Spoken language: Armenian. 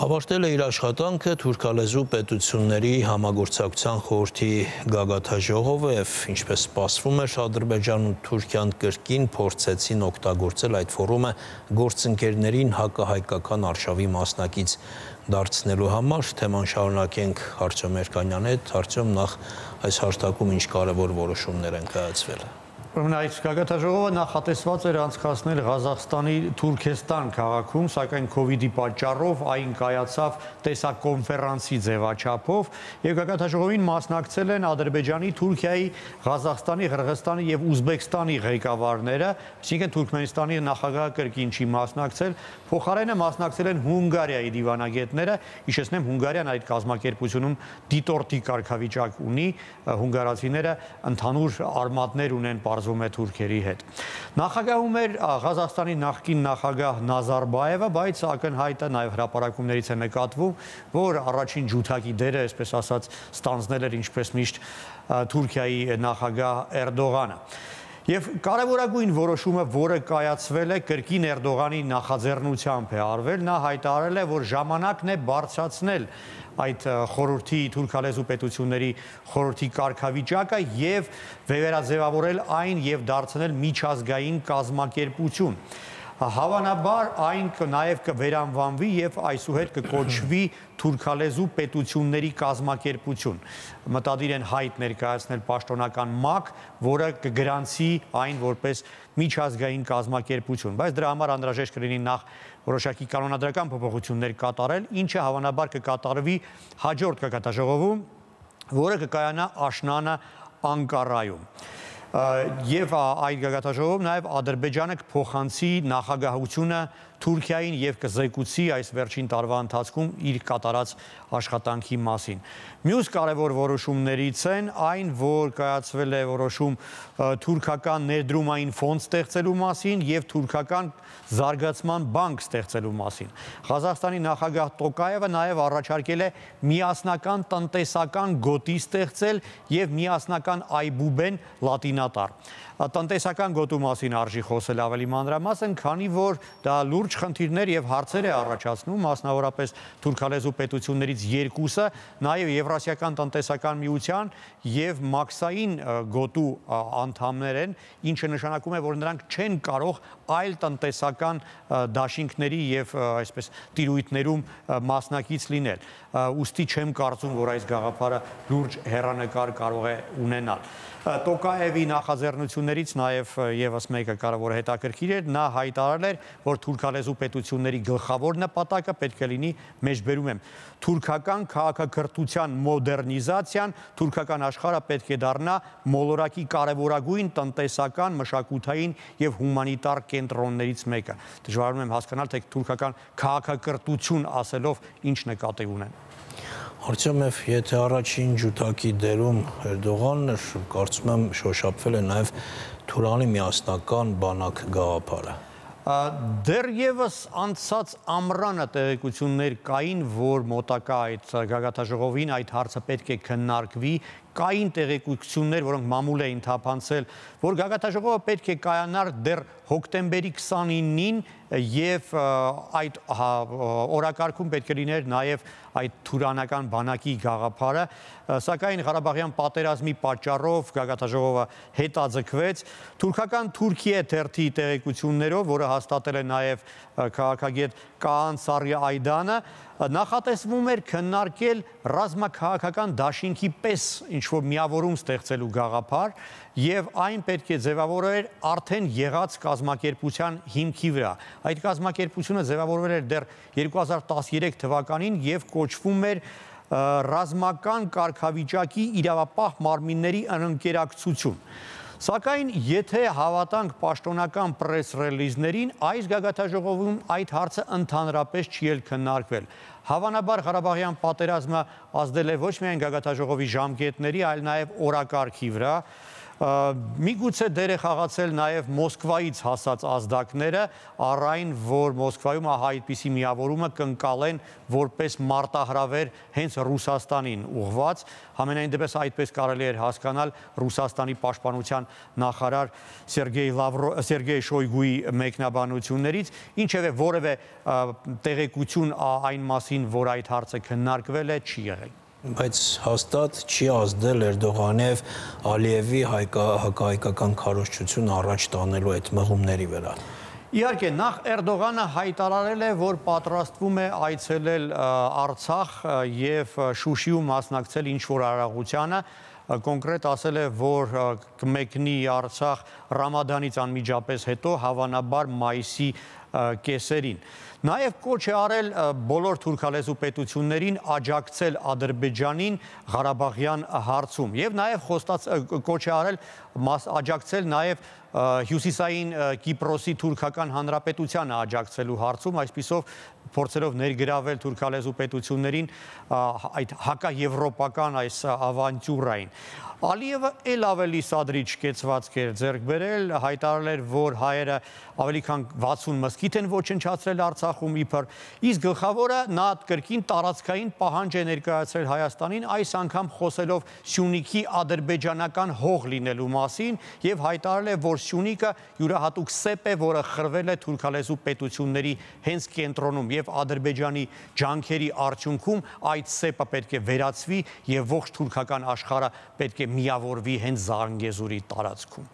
Ավարտել է իր աշխատանքը թուրքալեզու պետությունների համագործակցության խորհրդի գագաթաժողովը և ինչպես սպասվում էր, Ադրբեջանն ու Թուրքիան կրկին փորձեցին օգտագործել այդ ֆորումը գործընկերներին հակահայկական արշավի մասնակից դարձնելու համար։ Թեման շարունակենք Արտյոմ Երկանյանի հետ։ Արտյոմ, նախ այս հարթակում ինչ կարևոր որոշումներ են կայացվել։ Այդ գագաթաժողովը նախատեսված էր անցկացնել Ղազախստանի Թուրքեստան քաղաքում, սակայն Քովիդի պատճառով այն կայացավ տեսակոնֆերանսի ձևաչափով, եւ գագաթաժողովին մասնակցել են Ադրբեջանի, Թուրքիայի, Ղազախստանի, Ղրղստանի եւ Ուզբեկստանի ղեկավարները, այսինքն Թուրքմենստանի նախագահը կրկին չի մասնակցել, փոխարենը մասնակցել են Հունգարիայի դիվանագետները։ Հիշեցնեմ, Հունգարիան այդ կազմակերպությունում դիտորդի կարգավիճակ ունի, հունգարացիները ընդհանուր արմատներ ունեն պարզվում է թուրքերի հետ։ Նախագահում էր Ղազախստանի նախկին նախագահ Նազարբաևը, բայց ակնհայտը նաև հրապարակումներից է նկատվում, որ առաջին ջութակի դերը, այսպես ասած, ստանձնել էր ինչպես միշտ Թուրքիայի նախագահ Էրդողանը։ Եվ կարևորագույն որոշումը, որը կայացվել է, կրկին Էրդողանի նախաձեռնությամբ է արվել, նա հայտարարել է, որ ժամանակն է բարձրացնել այդ խորհրդի թուրքալեզու պետությունների խորհրդի կարգավիճակը եւ վերաձևավորել այն եւ դարձնել միջազգային կազմակերպություն։ Հավանաբար այն նաև կվերանվանվի եւ այսուհետ կկոչվի թուրքալեզու պետությունների կազմակերպություն։ Մտադիր են հայտ ներկայացնել պաշտոնական ՄԱԿ, որը կգրանցի այն որպես միջազգային կազմակերպություն, բայց դրա համար անհրաժեշտ կլինի նախ որոշակի կանոնադրական փոփոխություններ կատարել, ինչը հավանաբար կկատարվի հաջորդ գագաթաժողովում, որը կկայանա աշնանը Անկարայում։ Եվ այդ գագաթաժողովում նաև Ադրբեջանը կփոխանցի նախագահությունը Թուրքիային եւ կզեկուցի այս վերջին տարվա ընթացքում իր կատարած աշխատանքի մասին։ Մյուս կարևոր որոշումներից են այն, որ կայացվել է որոշում թուրքական ներդրումային ֆոնդ ստեղծելու մասին եւ թուրքական զարգացման բանկ ստեղծելու մասին։ Ղազախստանի նախագահ Տոկաևը նաև առաջարկել է միասնական տնտեսական գոտի ստեղծել եւ միասնական այբուբեն լատինատար։ Տնտեսական գոտու մասին արժի խոսել ավելի մանրամասն, քանի որ դա լուրջ խնդիրներ եւ հարցեր է առաջացնում, մասնավորապես թուրքալեզու պետություններից երկուսը նաեւ Եվրասիական տնտեսական միության եւ մաքսային գոտու անդամներ են, ինչը նշանակում է, որ նրանք չեն կարող այլ տնտեսական դաշինքների եւ այսպես տիրույթներում մասնակից լինել։ Ուստի չեմ կարծում, որ այս գաղափարը լուրջ հեռանկար կարող է ունենալ։ Տոկաևի նախաձեռնություններից նաև եւս մեկը կարևոր հետաքրքիր էր, նա հայտարարել էր, որ թուրքալեզու պետությունների գլխավոր նպատակը պետք է լինի, մեջբերում եմ, թուրքական քաղաքակրթության մոդեռնիզացիան, թուրքական աշխարհը պետք է դառնա մոլորակի կարևորագույն տնտեսական, մշակութային եւ հումանիտար կենտրոններից մեկը։ Դժվարանում եմ հասկանալ, թե թուրքական քաղաքակրթություն ասելով ինչ նկատի ունեն։ Արտյոմ, եթե առաջին ջութակի դերում Էրդողանն էր, կարծում եմ շոշափվել է նաև Թուրանի միասնական բանակ գաղափարը։ Դեռևս անցած ամռանը տեղեկություններ կային, որ մոտակա այդ գագաթաժողովին այդ հարցը պետք է քննարկվի, կային տեղեկություններ, որոնք մամուլ էին թափանցել, որ գագաթաժողովը պետք է կայանար դեռ հոկտեմբերի 29-ին եւ այդ օրակարգում պետք է լիներ նաեւ այդ թուրանական բանակի գաղափարը, սակայն Ղարաբաղյան պատերազմի պատճառով գագաթաժողովը հետաձգվեց։ Թուրքական Թուրքիե թերթի տեղեկություններով, որը հաստատել է նաեւ քաղաքագետ Կաան Սարի Այդանը, նախատեսվում էր քննարկել ռազմաքաղաքական դաշինքի պես ինչ-որ միավորում ստեղծելու գաղափար եւ այն պետք է ձևավորվեր արդեն եղած կազմակերպության հիմքի վրա։ Այդ կազմակերպությունը ձևավորվել էր դեռ 2013 թվականին եւ կոչվում էր ռազմական կարգավիճակի իրավապահ մարմինների ընկերակցություն։ Սակայն եթե հավատանք պաշտոնական պրես ռելիզներին, այս գագաթաժողովում այդ հարցը ընդհանրապես չի էլ քննարկվել։ Հավանաբար Ղարաբաղյան պատերազմը ազդել է ոչ միայն գագաթաժողովի ժամկետների, այլ նաև օրակարգի վրա։ Միգուցե դեր է խաղացել նաև Մոսկվայից հասած ազդակները, առ այն, որ Մոսկվայում այդպիսի միավորումը կընկալեն որպես մարտահրավեր հենց Ռուսաստանին ուղղված, համենայն դեպս այդպես կարելի էր հասկանալ Ռուսաստանի պաշտպանության նախարար Սերգեյ Շոյգուի մեկնաբանություններից, ինչևէ որևէ տեղեկություն այն մասին, որ այդ հարցը քննարկվել է, չի եղել։ Բայց հաստատ չի ազդել Էրդողանի եւ Ալիևի հակահայկական քարոզչությունը առաջ տանելու այդ մղումների վրա։ Իհարկե, նախ Էրդողանը հայտարարել է, որ պատրաստվում է այցելել Արցախ եւ Շուշիում մասնակցել ինչ-որ արարողությանը, կոնկրետ ասել է, որ կմեկնի Արցախ Ռամադանից անմիջապես հետո, հավանաբար մայիսի կեսերին։ Նաև կոչ է արել բոլոր թուրքալեզու պետություններին աջակցել Ադրբեջանին Ղարաբաղյան հարցում եւ նաև կոչ է արել աջակցել նաև Հյուսիսային Կիպրոսի թուրքական հանրապետությանը աջակցելու հարցում, այսպիսով փորձելով ներգրավել թուրքալեզու պետություններին այդ հակաեվրոպական այս ավանտյուրային։ Ալիևը էլ ավելի սադրիչ կեցվածք էր ձեռք բերել, հայտարարել էր, որ հայերը ավելի քան 60 մզկիթ են ոչնչացրել Արցախում իբր, իսկ գլխավորը նա կրկին տարածքային պահանջ է ներկայացրել Հայաստանին, այս անգամ խոսելով Սյունիքի ադրբեջանական հող լինելու մասին եւ հայտարարել է, որ Սյունիքը յուրահատուկ սեպ է, որը խրվել է թուրքալեզու պետությունների հենց կենտրոնում եւ Ադրբեջանի ջանքերի արդյունքում այդ սեպը պետք է վերացվի եւ ողջ թուրքական աշխարհը պետք է միավորվի հենց Զանգեզուրի տարածքում։